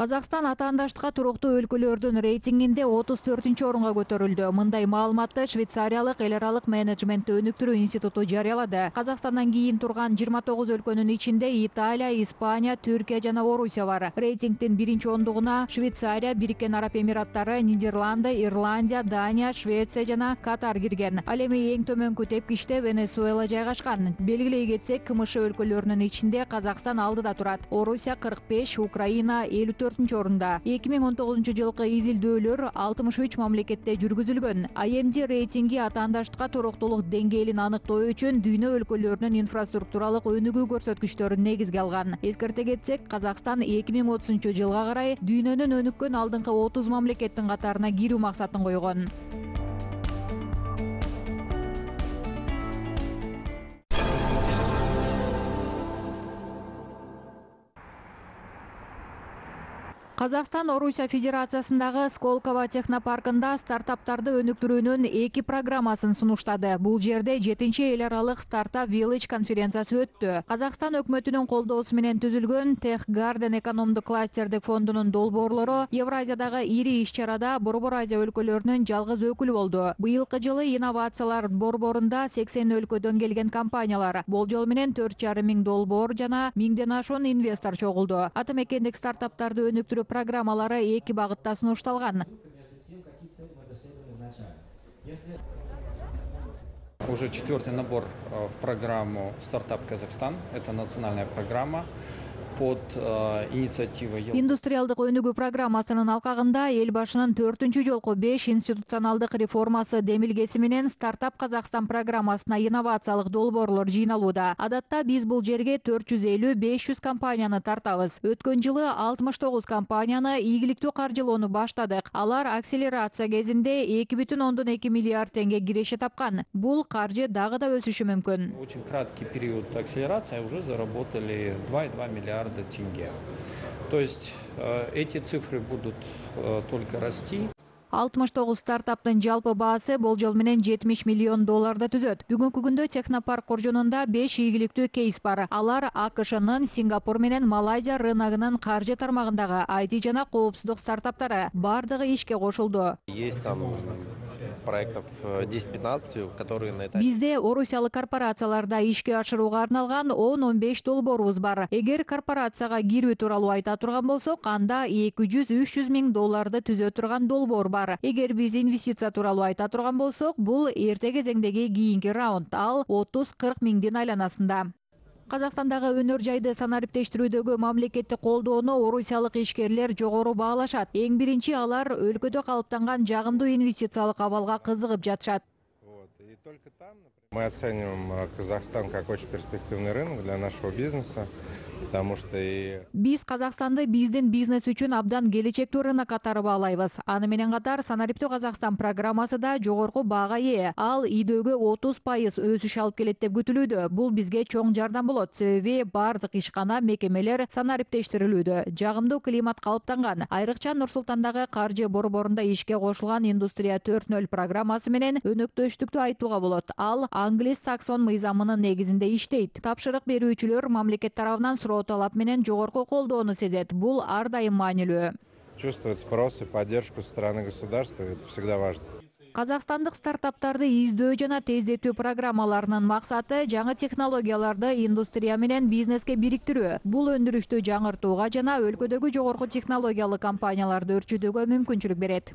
Казакстан атаандаштыкка туруктуу өлкөлөрдүн рейтингинде 34-орунга көтөрүлдү. Мындай маалыматты Швейцариялык эл аралык менеджментти өнүктүрүү институту жарыялады. Казакстандан кийин турган 29 өлкөнүн ичинде Италия, Испания, Түркия жана Орусия бар. Рейтингдин биринчи ондугуна Швейцария, Бириккен Араб Эмираттары, Нидерланды, Ирландия, Дания, Швеция жана Катар кирген. Ал эми эң төмөнкү тепкичте Венесуэла жайгашкан. Белгилей кетсек, КМШ өлкөлөрүнүн ичинде Казакстан алдыда турат. Орусия 45, Украина 54-орунда. 2019 жылкы изилдөөлөр 63 мамлекетте жүргүзүлгөн. IMD рейтинги атаандаштыкка туруктуулук деңгээлин аныктоо үчүн дүйнө өлкөлөрүнүн инфраструктуралык өнүгүү көрсөткүчтөрүн негизге алган. Эскерте кетсек, Казакстан 2030 жылга карай дүйнөнүн өнүккөн алдыңкы 30 мамлекеттин катарына кирүү максатын койгон. Казакстан Орусия Федерациясындагы Сколково технопаркында стартаптарды өнүктүрүүнүн 2 программасын сунуштады. Бул жерде 7-чи эл аралык стартап Village конференциясы өттү. Казакстан өкмөтүнүн колдоосу менен түзүлгөн Tech Garden экономдук кластердик фондунун долбоорлору Евразиядагы ири иш-чарада Борбор Азия өлкөлөрүнүн жалгыз өкүлү болду. Быйылкы жылы инновациялар борборунда 80 өлкөдөн келген компаниялар, болжол менен 4,5 миң долбоор жана 1000ден ашуун инвестор чогулду. Ата мекендик стартаптарды өнүктүрүү программалары 2 багытта сунушталган. Уже 4-й набор в программу «Стартап Казахстан». Это национальная программа под инициативой. Индустриалдык өнүгүү программасынын алкагында эл башынын 4-чү жолку 5 институционалдык реформасы демилгеси менен Стартап Казахстан программасына инновациялык долбоорлор жыйналууда. Адатта биз бул жерге 450-500 компанияны тартабыз. Өткөн жылы 69 компанияны ийгиликтүү каржылоону баштадык. Алар акселерация кезинде 2,2 миллиард теңге киреше тапкан. Бул каржы дагы да өсүшү мүмкүн. Очень краткий период акселерации уже заработали 2,2 миллиарда тенге. То есть эти цифры будут только расти. 69 стартаптын жалпы баасы болжол менен 70 миллион долларды түзөт. Бүгүнкү күндө технопарк коржонунда 5 ийгиликтүү кейс бар. Алар АКШнын, Сингапур менен Малайзия рыногунун каржы тармагындагы IT жана коопсуздук стартаптары. Бардыгы ишке кошулду. Есть там проектов 10-15, которые на это. Бизде орусиялык корпорацияларда ишке ашырууга арналган 10-15 долбоорубуз бар. Эгер корпорацияга кирүү тууралуу айта турган болсок, анда 200-300 миң долларды түзө турган долбоор бар. Эгер биз инвестиция тууралуу айта турган болсок, бул эрте кезеңдеги кийинки раунд, ал 30-40 миңдин айланасында. Казакстандагы өнөр жайды санариптештирүүдөгү мамлекеттик колдоону орусиялык ишкерлер жогору баалашат. Эң биринчи алар өлкөдө калыптанган жагымдуу инвестициялык абалга кызыгып жатышат. Мы оцениваем Казахстан как очень перспективный рынок для нашего бизнеса, потому что биз Казакстанды биздин бизнес үчүн абдан келечектүү рынок катары баалайбыз. Аны менен катар Санариптүү Казакстан программасы да жогорку баага ээ. Ал ийдөөгө 30% өсүш алып келет деп күтүлүүдө. Бул бизге чоң жардам болот. Себеби бардык ишкана, мекемелер санариптештирилүүдө. Жагымдуу климат калыптанган. Айрыкча Нур-Султандагы каржы борборунда ишке кошулган Индустрия 4.0 программасы менен өнөктөштүктү айтууга болот. Ал Англис-Саксон мыйзамынын негизинде иштейт. Тапшырык берүүчүлөр мамлекет тарабынан суроо талап менен жогорку колдоону сезет. Бул ар дайым маанилүү. Чувствовать спрос и поддержку со стороны государства, это всегда важно. Казакстандык стартаптарды издөө жана тездетүү программаларынын максаты жаңы технологияларды индустрия менен бизнеске бириктирүү. Бул өндүрүштү жаңыртууга жана өлкөдөгү жогорку технологиялык компанияларды өрчүтүүгө мүмкүнчүлүк берет.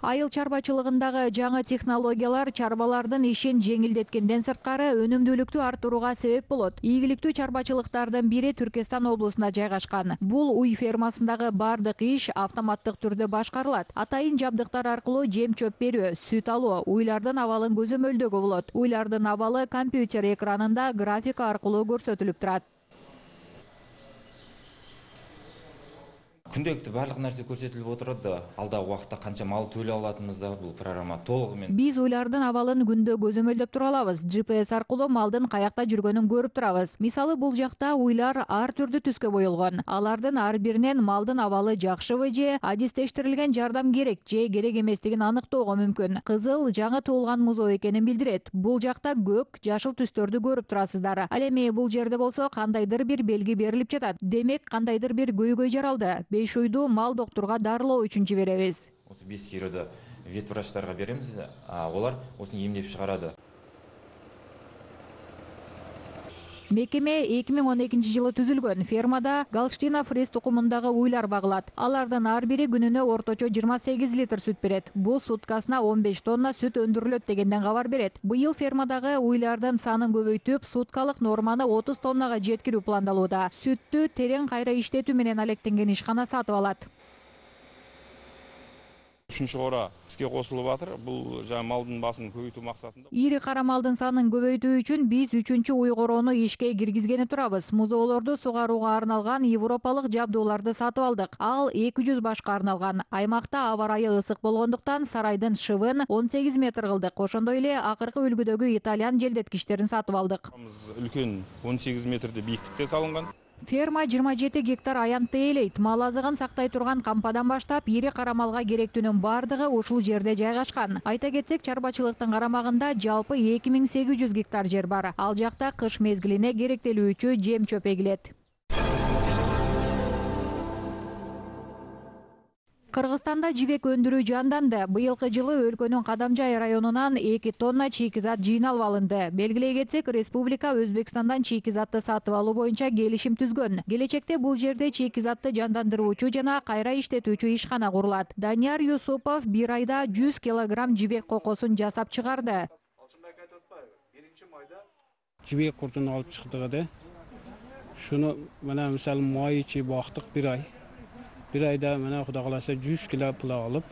Айыл чарбачылыгындагы жаңы технологиялар чарбалардын ишин жеңилдеткенден сырткары өнүмдүүлүктү арттырууга себеп болот. Ийгиликтүү чарбачылыктардын бири Түркестан облусунда жайгашкан. Бул уй фермасындагы бардык иш автоматтык түрдө башкарылат. Атайын жабдыктар аркылуу жем-чөп берүү, сүт алуу, уйлардын абалын көзөмөлдөгө болот. Уйлардын абалы компьютер экранында графика аркылуу көрсөтүлүп турат. күнделикти барлык нерсе көрсөтүлүп отурат да, алдагы убакытта канча мал төлөй алатыныбыз да бул программа толугу менен. Биз уйлардын абалын күндө көзөмөлдөп тура алабыз. GPS аркылуу малдын каякта жүргөнүн көрүп турабыз. Мисалы, бул жакта уйлар ар түрдүү түскө боелгон. Алардын ар биринен малдын абалы жакшыбы же адистештирилген жардам керек же керек эместигин аныктоого мүмкүн. Кызыл жаңы туулган музоо экенин билдирет. Бул жакта көк, жашыл түстөрдү көрүп турасыздар. Ал эми бул жерде болсо кандайдыр бир белги берилип жатат. Демек, кандайдыр бир көйгөй жаралды. 5 уйду мал доктурга дарылоо үчүн жиберебиз. Осы 5 сыйрыды вет врачтарга беремиз, олар осуну эмдеп чыгарады. Мекеме 2012 жылы түзүлгөн. Фермада Галштина фриз тукумундагы уйлар багылат. Алардын ар бири күнүнө орточо 28 литр сүт берет. Бул суткасына 15 тонна сүт өндүрүлөт дегенден кабар берет. Быйыл фермадагы уйлардын санын көбөйтүп, суткалык норманы 30 тоннага жеткирүү пландалууда. Сүттү терең кайра иштетүү менен алектенген ишкана сатып алат. Үшүнчү кора иске косулуп атыр. Бул жаңы малдын басын көбөйтүү максатында. Ири кара малдын санын көбөйтүү үчүн биз 3-чү уй короону ишке киргизгени турабыз. Музоолорду сугарууга арналган европалык жабдууларды сатып алдык. Ал 200 башка арналган. Аймакта аба ырайы ысык болгондуктан сарайдын шыбын 18 метр кылдык. Ошондой эле акыркы үлгүдөгү итальян желдеткичтерин сатып алдык. Үлкөн 18 метрде бийиктикте салынган. Ферма 27 гектар аянтты ээлейт. Мал азыгын сактай турган кампадан баштап ири кара малга керектүүнүн бардыгы ушул жерде жайгашкан. Айта кетсек, чарбачылыктын карамагында жалпы 2800 гектар жер бар. Ал жакта кыш мезгилине керектелүүчү жем чөп эгилет. Кыргызстанда жибек өндүрүү жанданды. Быйылкы жылы өлкөнүн Кадамжай районунан 2 тонна чийкизат жыйналып алынды. Белгилей кетсек, республика Өзбекстандан чийкизатты сатып алуу боюнча келишим түзгөн. Келечекте бул жерде чийкизатты жандандыруучу жана кайра иштетүүчү ишкана курулат. Данияр Юсупов бир айда 100 килограмм жибек кокосун жасап чыгарды. Жибек куртун алып чыктык да. Шуну мына мисалы май ичи бактык бир ай. Bir ayda mana Xudo qalasa 100 kilo pula olib,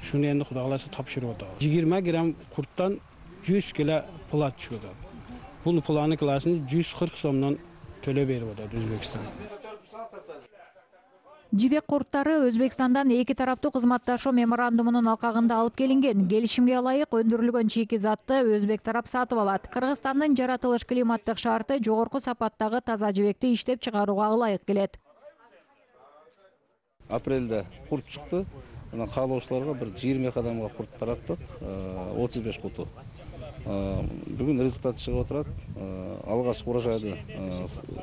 shuni endi Xudo qalasa topshirib o'tamiz. 20 gram qurtdan 100 kilo pula tushadi. Bu pulani klasini 140 so'mdan төлөп berib o'tadi O'zbekiston. Жибек курттары Өзбекстандан эки тараптуу кызматташуу меморандумунун алкагында алып келинген. Келишимге ылайык өндүрүлгөн чийкизатты өзбек тарап сатып алат. Кыргызстандын жаратылыш климаттык шарты жогорку сапаттагы таза жибекти иштеп чыгарууга ылайык келет. Апрелде курт чыкты. Мына каалоочуларга bir 20 адамга курт тараттык, 35 куту. Бүгүн результат чыгып отурат. Алгач урожайды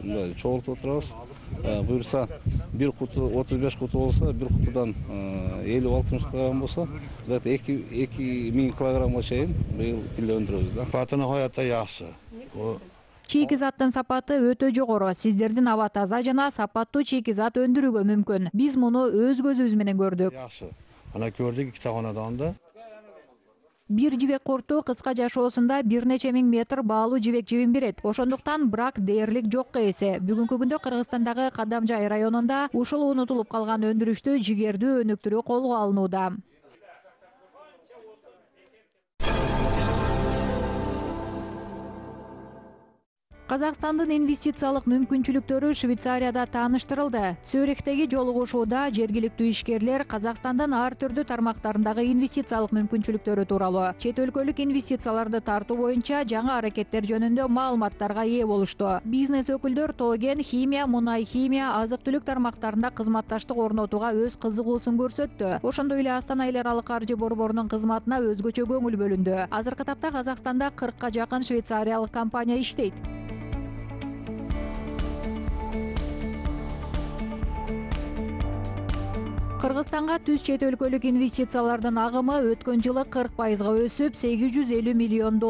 мындай чогултуп отурабыз. Буюрса, bir куту 35 куту болсо, bir кутудан 50-60 килограмм болсо, 2000 килограммга чейин быйыл пиле өндүрөбүз да. Сапатына коята жакшы. Чийкизаттын сапаты өтө жогору. Сиздердин аба таза жана сапаттуу чийкизат өндүрүүгө мүмкүн. Биз муну өз көзүбүз менен көрдүк. Жакшы. Ана көрдүк ikkita xonadonda. Бир жибек курту кыска жашоосунда бир нече миң метр баалуу жибек жибин берет. Ошондуктан брак дээрлик жокко эсе. Бүгүнкү күндө Кыргызстандагы Кадамжай районунда ушул унутулуп калган өндүрүштү жигердүү өнүктүрүү колго алынууда. Казакстандын инвестициялык мүмкүнчүлүктөрү Швейцарияда тааныштырылды. Цюрихтеги жолугушууда жергиликтүү ишкерлер Казакстандын ар түрдүү тармактарындагы инвестициялык мүмкүнчүлүктөрү тууралуу, чет өлкөлүк инвестицияларды тартуу боюнча жаңы аракеттер жөнүндө маалыматтарга ээ болушту. Бизнес өкүлдөр тоген, химия, мунай химия, азык-түлүк тармактарында кызматташтык орнотууга өз кызыгуусун көрсөттү. Ошондой эле Астана эл аралык каржы борборунун кызматына өзгөчө көңүл бөлүндү. Азыркы тапта Казакстанда 40ка жакын швейцариялык компания иштейт. Кыргызстанга түз чет өлкөлүк инвестициялардын агымы өткөн жылы 40%га өсүп, $850 миллион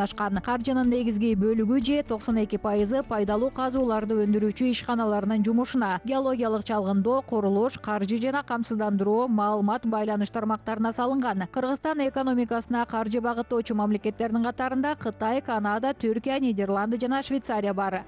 ашкан. Каржынын негизги бөлүгү же 92% пайдалуу казууларды өндүрүүчү ишканаларынын жумушуна, геологиялык чалгындоо, курулуш, каржы жана камсыздандыруу, маалымат, байланыш тармактарына салынган. Кыргызстан экономикасына каржы багыттоочу мамлекеттердин катарында Кытай, Канада, Түркия, Нидерланды жана Швейцария бар.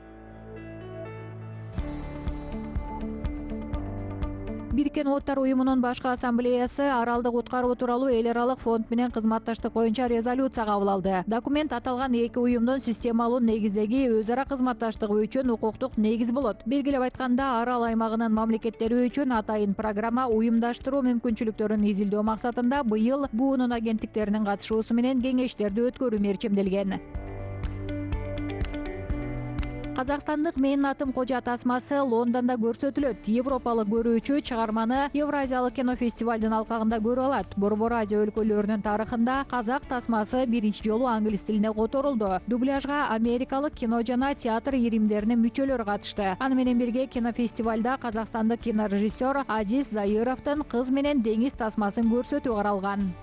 Бириккен Улуттар уюмунун башкы ассамблеясы аралды куткаруу тууралуу эл аралык фонд менен кызматташтык боюнча резолюция кабыл алды. Документ аталган эки уюмдун системалуу негиздеги өз ара кызматташтыгы үчүн укуктук негиз болот. Белгилеп айтканда, арал аймагынын мамлекеттери үчүн атайын программа уюмдаштыруу мүмкүнчүлүктөрүн изилдөө максатында быйыл буунун агенттиктеринин катышуусу менен кеңештерди өткөрүү мерчимделген. Казакстандык Менин атым Кожа тасмасы Лондондо көрсөтүлөт. Европалык көрүүчү чыгарманы Евразиялык кинофестивалдын алкагында көрө алат. Борбор Азия өлкөлөрүнүн тарыхында казак тасмасы биринчи жолу англис тилине которулду. Дубляжга америкалык кино жана театр иримдеринин мүчөлөрү катышты. Аны менен бирге кинофестивалда казакстандык кинорежиссер Азиз Заировдун Кыз менен деңиз тасмасын көрсөтүү каралган.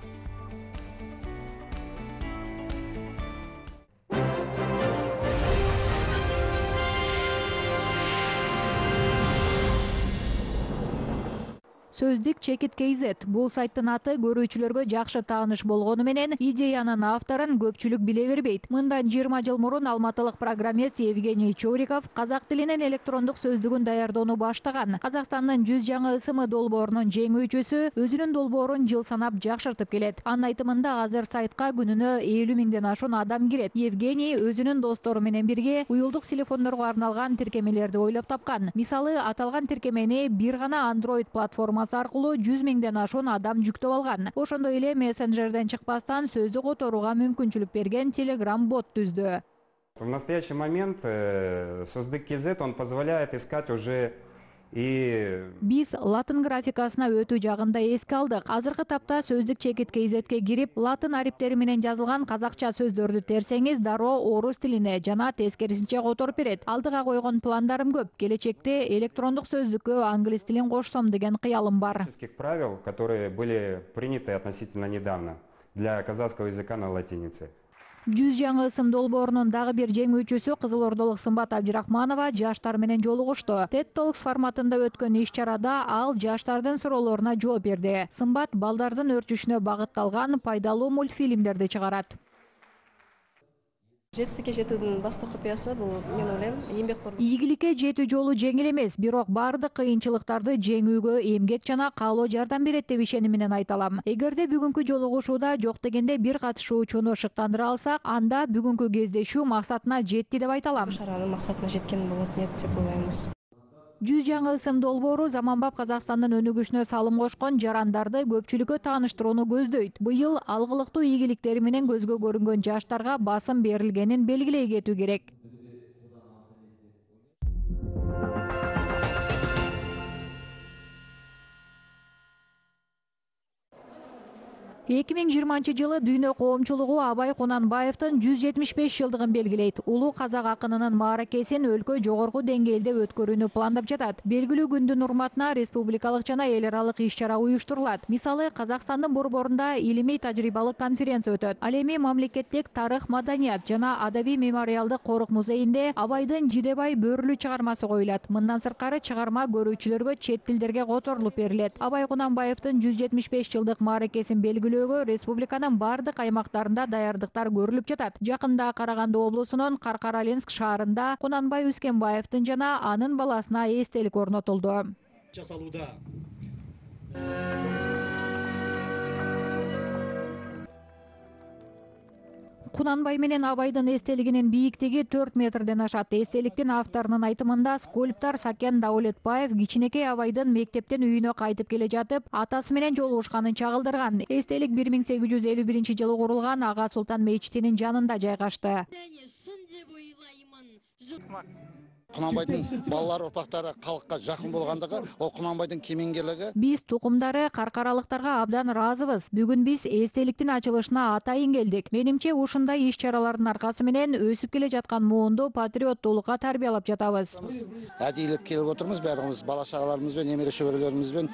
Сөздүк Чекит KZ. Бул сайттын аты көрүүчүлөргө жакшы тааныш болгону менен идеянын авторун көпчүлүк биле бербейт. Мындан 20 жыл мурун алматылык программист Евгений Чуриков казак тилинин электрондук сөздүгүн даярдоону баштаган. Казакстандын 100 жаңы ысымы долбоорунун жеңүүчүсү өзүнүн долбоорун жыл санап жакшыртып келет. Анын айтымында азыр сайтка күнүнө 50 миңден ашуун адам кирет. Евгений өзүнүн достору менен бирге уюлдук телефондорго арналган тиркемелерди ойлоп тапкан. Мисалы, аталган тиркемени бир гана Android платформасы аркылуу 100 миңден ашуун адам жүктөп алган. Ошондой эле мессенджерден чыкпастан сөздү которууга мүмкүнчүлүк берген Telegram бот түздү. В настоящий момент Сөздүк KZ он позволяет искать уже Биз латын графикасына өтүү жагында эске алдык. Азыркы тапта Сөздүк Чекит KZ'ге кирип, латын ариптери менен жазылган казакча сөздөрдү терсеңиз, дароо орус тилине жана тескерисинче которуп берет. Алдыга койгон пландарым көп. Келечекте электрондук сөздүккө англис тилин кошсом деген кыялым бар. Правил, которые были приняты относительно недавно для казахского языка на латинице. 100 жаңы ысым долбоорунун дагы бир жеңүүчүсү Кызылордолук Сымбат Абдирахманова жаштар менен жолугушту. TED Talks форматында өткөн иш-чарада ал жаштардын суроолоруна жооп берди. Сымбат балдардын өрчүшүнө багытталган пайдалуу мультфильмдерди чыгарат. Жетістікке жетүүнүн башкы купуясы бул, мен ойлойм, эмгеккорлук. Ийгиликке жетүү жолу жеңил эмес, бирок бардык кыйынчылыктарды жеңүүгө эмгек жана каалоо жардам берет деп ишеним менен айта алам. Эгерде бүгүнкү жолугушууда жок дегенде бир катышуучуну шыктандыра алсак, анда бүгүнкү кездешүү максатына жетти деп айта алам. Шаранын максатына жеткен болот деп ойлойбуз. 100 жаңы ысым долбоору заманбап Казакстандын өнүгүшүнө салым кошкон жарандарды көпчүлүккө тааныштырууну көздөйт. Быйыл алгылыктуу ийгиликтери менен көзгө көрүнгөн жаштарга басым берилгенин белгилей кетүү керек. 2020 жылы дүйнө коомчулугу Абай Кунанбаевдин 175 жылдыгын белгилейт. Улуу казак акынынын мааракесин өлкө жогорку деңгээлде өткөрүүнү пландап жатат. Белгилүү күндүн урматына республикалык жана эл аралык иш-чара уюштурулат. Мисалы, Казакстандын борборунда илимий тажрыйбалык конференция өтөт. Ал эми мамлекеттик тарых, маданият жана адабий мемориалдык корук музейинде Абайдын Жидебай бөрүлүү чыгармасы коюлат. Мындан сырткары чыгарма көрүүчүлөргө чет тилдерге которулуп берилет. Абай Кунанбаевдин 175 жылдык мааракесин белгилөө республиканын бардык аймактарында даярдыктар көрүлүп жатат. Жакында Караганды облусунун Каркараленск шаарында Кунанбай Үскенбаевдин жана анын баласына эстелик орнотулду. Кунанбай менен Абайдын эстелигинин бийиктиги 4 метрден ашат. Эстеликтин авторунун айтымында скульптор Сакен Даулетбаев кичинекей Абайдын мектептен үйүнө кайтып келе жатып, атасы менен жолугушканын чагылдырган. Эстелик 1851 жылы курулган Ага Султан мечитинин жанында жайгашты. Кунанбайдын балалар урпактары калкка жакын болгондугу, ол Кунанбайдын кемеңгерлиги. Биз тукумдары каркаралыктарга абдан ыраазыбыз. Бүгүн биз эстеликтин ачылышына атайын келдик. Менимче ушундай иш-чаралардын аркасы менен өсүп келе жаткан муунду патриоттуулукка тарбиялап жатабыз. Адийлеп келип отурмуз, баардыгыбыз бала чагаларыбыз менен, немере шөбөрөлөрүбүз менен.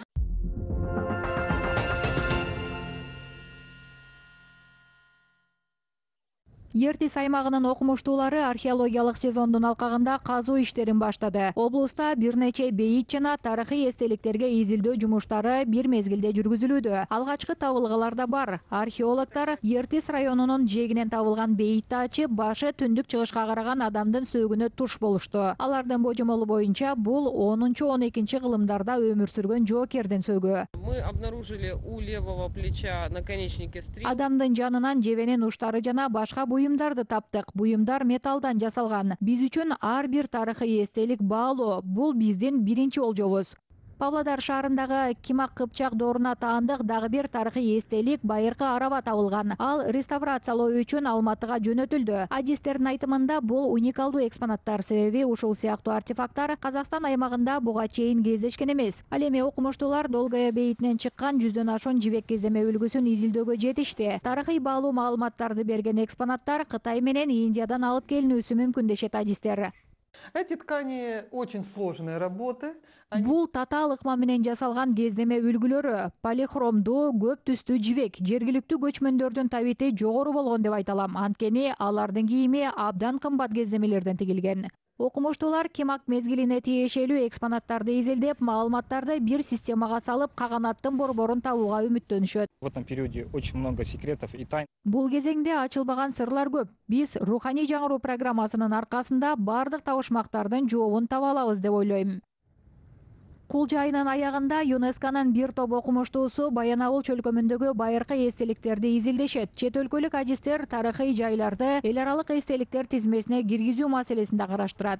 Ертис аймагынын окумуштуулары археологиялык сезондун алкагында казуу иштерин баштады. Облуста бир нече бейит жана тарыхый эстеликтерге изилдөө жумуштары бир мезгилде жүргүзүлүүдө. Алгачкы табылгалар да бар. Археологдор Ертис районунун жээгинен табылган бейитти ачып, башы түндүк чыгышка караган адамдын сөөгүнө туш болушту. Алардын божомолу боюнча бул 10-12 кылымдарда өмүр сүргөн жоокердин сөөгү. Мы обнаружили у левого плеча наконечники стрел. Адамдын жанынан жебенин уштары жана башка буюмдарды таптык. Буюмдар металлдан жасалган. Биз үчүн ар бир тарыхый эстелик баалуу. Бул биздин биринчи олжобуз. Павлодар шаарындагы Кимак Кыпчак дооруна таандык дагы бир тарыхый эстелик байыркы араба табылган. Ал реставрациялоо үчүн Алматыга жөнөтүлдү. Адистердин айтымында бул уникалдуу экспонаттар, себеби ушул сыяктуу артефакттар Казакстан аймагында буга чейин кездешкен эмес. Ал эми окумуштуулар Долгая бейитинен чыккан 100дөн ашуун жибек кездеме үлгүсүн изилдөөгө жетишти. Тарыхый баалуу маалыматтарды берген экспонаттар Кытай менен Индиядан алып келинүүсү мүмкүн дешет адистер. Эти ткани очень сложные работы. Бул татаал ыкма менен жасалган кездеме үлгүлөрү. Полихромдуу, көп түстүү жибек. Жергиликтүү көчмөндөрдүн табити жогору болгон деп айта алам. Анткени алардын кийими абдан кымбат кездемелерден тигилген. Окумуштуулар Кимак мезгилине тиешелүү экспонаттарды изилдеп, маалыматтарды бир системага салып, каганаттын борборун табууга үмүттөнүшөт. В этом периоде очень много секретов и тайн. Бул кезеңде ачылбаган сырлар көп. Биз руханий жаңыруу программасынын аркасында бардык табышмактардын жообун таба алабыз деп ойлойм. Кулча айынын аягында ЮНЕСКОнун бир топ окумуштуусу Баянауыл чөлкөмүндөгү байыркы эстеликтерди изилдешет. Чет өлкөлүк адистер тарыхый жайларды эл аралык эстеликтер тизмесине киргизүү маселесин да караштырат.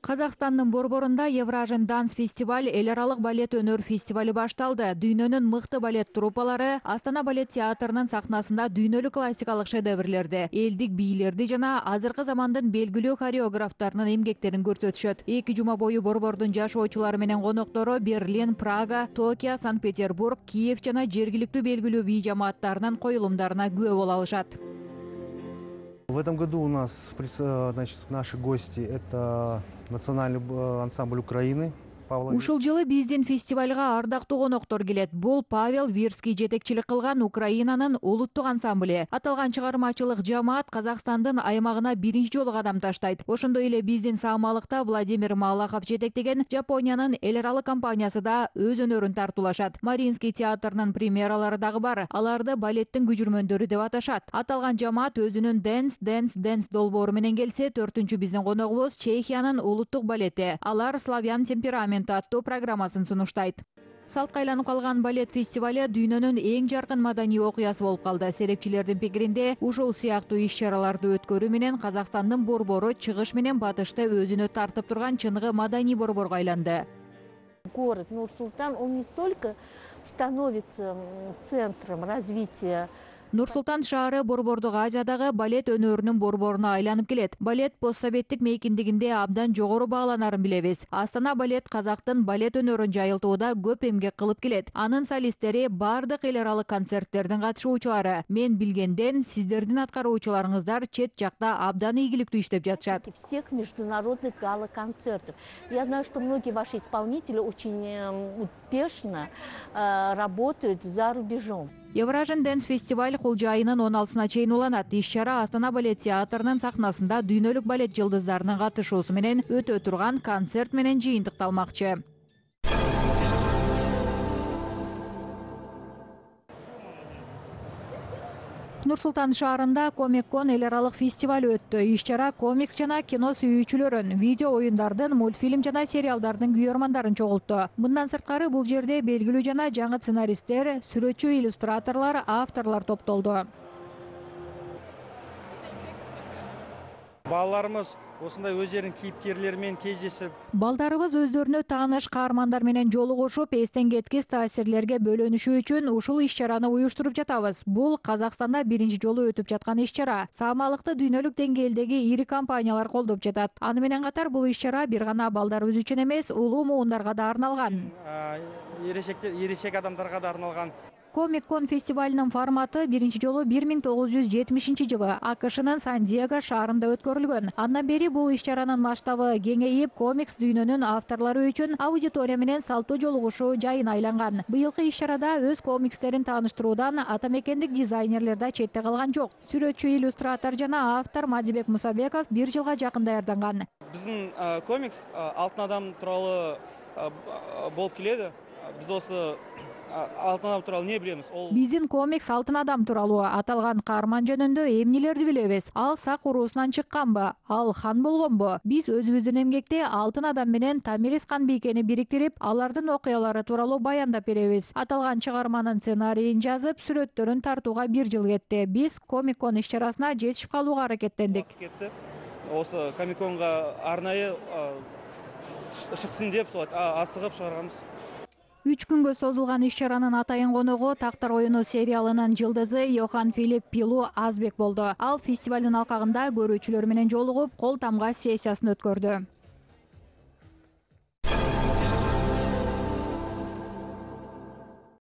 Казакстандын борборунда Евражен Данс фестиваль эл аралык балет өнөр фестивали башталды. Дүйнөнүн мыкты балет труппалары Астана балет театрынын сахнасында дүйнөлүк классикалык шедеврлерди, элдик бийлерди жана азыркы замандын белгилүү хореографтарынын эмгектерин көрсөтүшөт. 2 жума бою борбордун жашоочулары менен коноктору Берлин, Прага, Токио, Санкт-Петербург, Киев жана жергиликтүү белгилүү бий жамааттарынын коюлумдарына күбө боло алышат. В этом году у нас, значит, наши гости – это национальный ансамбль Украины. Ушул жылы биздин фестивалга ардактуу коноктор келет. Бул Павел Вирский жетекчилик кылган Украинанын улуттук ансамблі. Аталган чыгармачылык жамаат Казакстандын аймагына биринчи жолу кадам таштайт. Ошондой эле биздин саамалыкта Владимир Малахов жетектеген Жапониянын эл аралык компаниясы да өз өнөрүн тартуулашат. Маринский театрынын премьералары дагы бар. Аларды балеттин күжүрмөндөрү деп аташат. Аталган жамаат өзүнүн Dance долбоору менен келсе, 4-үнчү биздин коногубуз Чехиянын улуттук балети. Алар Славян темперамент аттуу программасын сунуштайт. Салтка айланып калган балет фестивали дүйнөнүн эң жаркын маданий окуясы болуп калды. Серепчилердин пикиринде, ушул сыяктуу иш-чараларды өткөрүү менен Казакстандын борбору чыгыш менен батышты өзүнө тартып турган чыныгы маданий борборго айланды. Город Нур-Султан, он не столько становится центром развития. Нур-Султан шаары Борбордук Азиядагы балет өнөрүнүн борборуна айланып келет. Балет постсоветтик мейкиндигинде абдан жогору бааланарын билебиз. Астана балет казактын балет өнөрүн жайылтууда көп эмгек кылып келет. Анын солисттери бардык эл аралык концерттердин катышуучулары. Мен билгенден сиздердин аткаруучуларыңыздар чет жакта абдан ийгиликтүү иштеп жатышат. Всех международных гала-концертов. Я знаю, что многие ваши исполнители очень успешно работают за рубежом. Евражен Dance фестиваль Кулча айынын 16-сына чейин уланат. Иш-чара Астана балет театрынын сахнасында дүйнөлүк балет жылдыздарынын катышуусу менен өтө турган концерт менен жыйынтыкталмакчы. Нур-Султан шаарында Комик-кон эл аралык фестиваль өттү. Иш-чара комикс жана кино сүйүүчүлөрүн, видео оюндардын, мультфильм жана сериалдардын күйөрмандарын чогултту. Мындан сырткары бул жерде белгилүү жана жаңы сценаристтер, сүрөтчү, иллюстраторлор, авторлор топтолду. Балаларымыз осындай өздерінің кейіпкерлерімен кездесіп. Балдарыбыз өздөрүнө тааныш каармандар менен жолугушуп, эстен кеткис таасирлерге бөлөнүшүү үчүн ушул иш-чараны уюштуруп жатабыз. Бул Казакстанда биринчи жолу өтүп жаткан иш-чара. Саамалыкты дүйнөлүк деңгээлдеги ири компаниялар колдоп жатат. Аны менен катар бул иш-чара бир гана балдарыбыз үчүн эмес, улуу муундарга да арналган. Ересек адамдарга да арналган. Комик-кон фестивалынын форматы биринчи жолу 1970-жылы АКШнын Сан-Диего шаарында өткөрүлгөн. Андан бери бул иш-чаранын масштабы кеңейип, комикс дүйнөнүн авторлору үчүн аудитория менен салттуу жолугушуу жайын айланган. Быйылкы иш-чарада өз комикстерин тааныштыруудан атамекендик дизайнерлер да четте калган жок. Сүрөтчү, иллюстратор жана автор Мадибек Мусабеков 1 жылга жакын даярданган. Биздин комикс алтын адам тууралуу болуп келеді. Біз осы алтын адам тууралуу не билебиз? Биздин комикс алтын адам тууралуу. Аталган каарман жөнүндө эмнелерди билебиз? Ал сак уруусунан чыкканбы? Ал хан болгонбу? Биз өзүбүздүн эмгекте алтын адам менен Тамирис Канбикени бириктирип, алардын окуялары тууралуу баяндап беребиз. Аталган чыгарманын сценарийин жазып, сүрөттөрүн тартууга 1 жыл кетти. Биз Комик-кон иш-чарасына жетишип калууга аракеттендик. Осы Комик-конго арнайы шыксын деп асыгып чыгарганбыз. 3 күнгө созулган иш-чаранын атайын коногу Тактар оюну сериалынын жылдызы Йохан Филипп Пилу Азбек болду. Ал фестивалдын алкагында көрүүчүлөр менен жолугуп, кол тамга сессиясын өткөрдү.